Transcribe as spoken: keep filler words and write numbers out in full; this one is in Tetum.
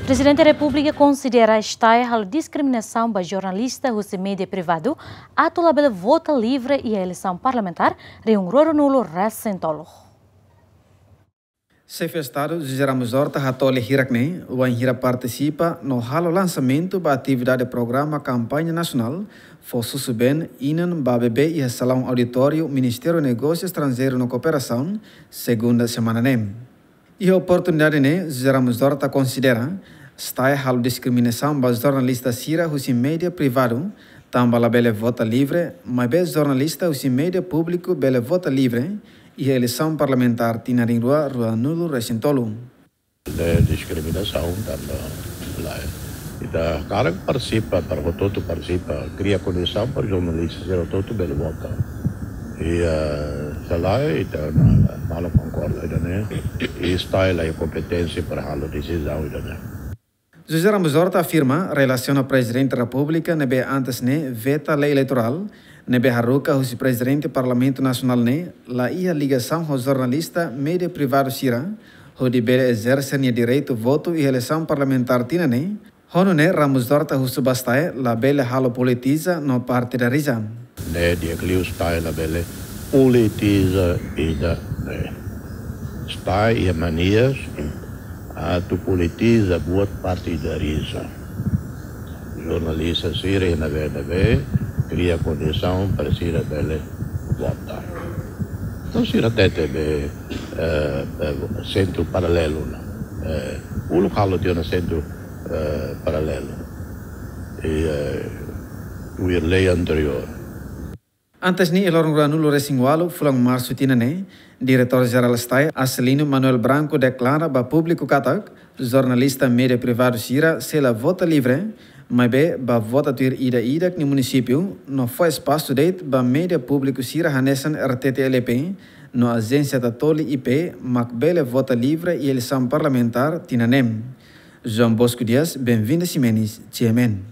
Prezidente Repúblika konsidera STAE halo diskriminasaun ba jornalista husi média privadu atu labele vota livre iha eleisaun parlamentár rihun rua rua-nulu resin tolu. Xefe Estadu José Ramos Horta hatoli hirak ne'e wainhira partisipa no halo lansamentu ba atividade programa kampaña nasionál fó susubeen inan ba bebé iha salaun auditóriu Ministériu Negósiu Estranjeiru no Kooperasaun, segunda semana ne'e. Iha oportunidade ne'e, José Ramos Horta konsidera STAE halo diskriminasaun ba jornalista sira husi média privadu, tanba labele vota livre, maibé jornalista husi média públiku bele vota livre iha eleisaun parlamentár tinan rihun rua rua-nulu resin tolu. Ne'e diskriminasaun tanba lae. Ita hakarak partisipa, para hotu-hotu partisipa, kria kondisaun para jornalista sira hotu-hotu bele vota. I, eh, se lae, ita na, malu konkorda ida-ne'e, i STAE la iha kompeténsia para halo desizaun ida-ne'e. José Ramos Horta afirma relasiona Prezidente Repúblika ne'ebé antes ne'e veta lei eleitorál, ne'ebé haruka husi Prezidente Parlamentu Nasionál ne'e la iha ligasaun ho jornalista média privadu sira, hodi bele ezerse nia direitu votu iha eleisaun parlamentár tinan ne'e. Ho nune'e Ramos Horta husu ba STAE labele halo politiza no partidariza. Ne'e di'ak liu STAE labele politiza ida-ne'e. STAE iha mania atu politiza buat partidariza. Jornalista sira iha ne'ebé-ne'ebé, kria kondisaun para sira bele vota. Entaun sira hatete be, eh, eh, sentru paralelu ona. Eh, uluk halo tiha ona sentru, eh, paralelu. I, eh, tuir lei anteriór. Antes ne'e, iha loron rua-nulu resin ualu fulan Marsu tinan ne'e, Diretór Jerál STAE, Acelino Manuel Branco, deklara ba públiku katak jornalista média privadu sira sei la vota livre, maibé bá vota tuir ida-idak nia munisípiu, no fó espasu de'it ba média públiku sira hanesan RTTL-EP no Ajénsia Tatoli I P mak bele vota livre iha eleisaun parlamentár tinan ne'e. João Bosco Dias, Benvinda Ximenes, G M N.